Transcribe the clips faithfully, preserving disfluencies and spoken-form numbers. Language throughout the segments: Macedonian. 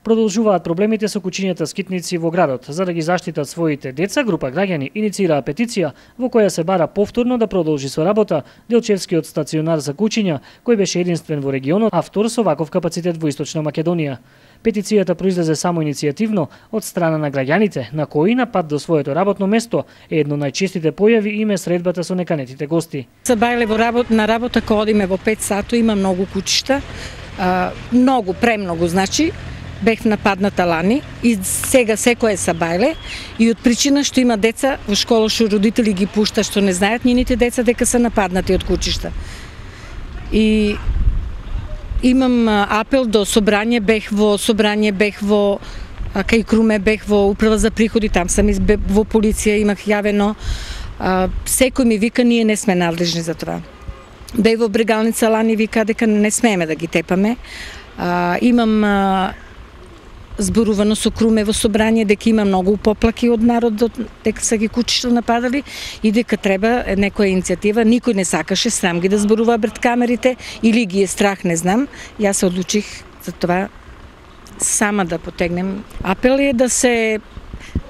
Продолжуваат проблемите со кучињата скитници во градот. За да ги заштитат своите деца, група граѓани иницира петиција во која се бара повторно да продолжи со работа Делчевскиот стационар за кучиња, кој беше единствен во регионот, автор со ваков капацитет во Источна Македонија. Петицијата произлезе само иницијативно од страна на граѓаните, на кои на пат до своето работно место е едно најчестите појави име средбата со неканетите гости. За бајле во работа, на работа кога одиме во пет сато има многу кучишта, а, многу, премногу, значи бев нападната лани и сега секој е са бајле и од причина што има деца во школа што родители ги пушта што не знаат нивните деца дека се нападнати од кучишта. И имам апел до собрање, бех во собрање, бех во кај Круме, бех во управа за приходи, там сам во полиција имах јавено. Секој ми вика ние не сме надлежни за това. Бех во Брегалница лани вика дека не смееме да ги тепаме. Имам зборувано со Круме во собрање дека има многу поплаки од народот, дека се ги кучишта нападали и дека треба некоја иницијатива. Никој не сакаше, срам ги да зборува пред камерите или ги е страх, не знам. Јас се одлучих за това сама да потегнем. Апел е да се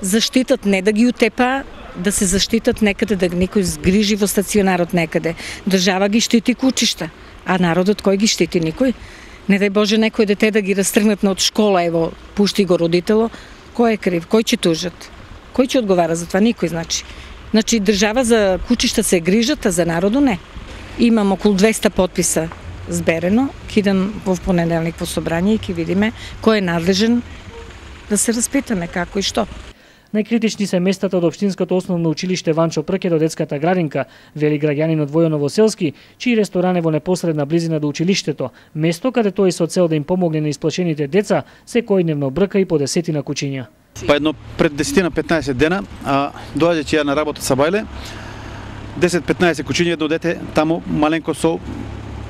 заштитат, не да ги утепа, да се заштитат некаде, да никој згрижи во стационарот некаде. Држава ги штити кучишта, а народот кој ги штити? Никој. Не дај Боже некој дете да ги растргнат од школа, ево, пушти го родитело, кој е крив, кој ќе тужат? Кој ќе одговара за това? Никој, значи. Значи, држава за кучишта се грижат, а за народу не. Имам околу двеста потписа зберено, ќе идам во понеделник во собрање и ќе видиме кој е надлежен да се распитаме како и што. Најкритични се местата од Општинското основно училиште Ванчо Прке до детската градинка, вели граѓанин од Војоново Селски, чиј ресторан е во непосредна близина до училиштето, место каде тој со цел да им помогне на исплашените деца, секојдневно брка и по десетина кучиња. Па едно пред десетина-петнаесет дена, а доаѓајќи ја на работа са бајле, десет-петнаесет кучиња едно дете таму маленко со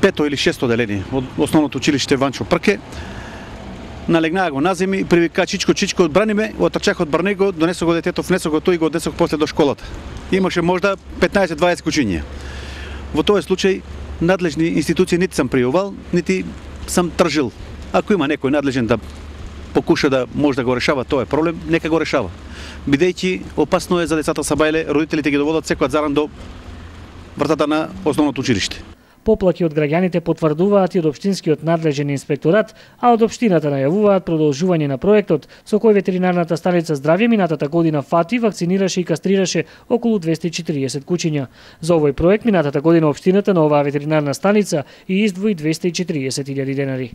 пето или шесто делени од основното училиште Ванчо Прке. Налегнаа го на земји, привика чичко, чичко, одбрани ме, отрчах од брнего, донесох го детето, внесох го тој и го однесох после до школата. Имаше можда петнаесет-дваесет кучиња. Во тој случај надлежни институции нити сам пријувал, нити сам тржил. Ако има некој надлежен да покуша да може да го решава тој проблем, нека го решава. Бидејќи опасно е за децата са бајле, родителите ги доводат секој заран до вратата на основното училиште. Поплаки од граѓаните потврдуваат и од Општинскиот надлежен инспекторат, а од Општината најавуваат продолжување на проектот со кој ветеринарната станица Здравје минатата година фати, вакцинираше и кастрираше околу двесте и четириесет кучиња. За овој проект минатата година Општината на оваа ветеринарна станица и издвои двесте и четириесет илјади денари.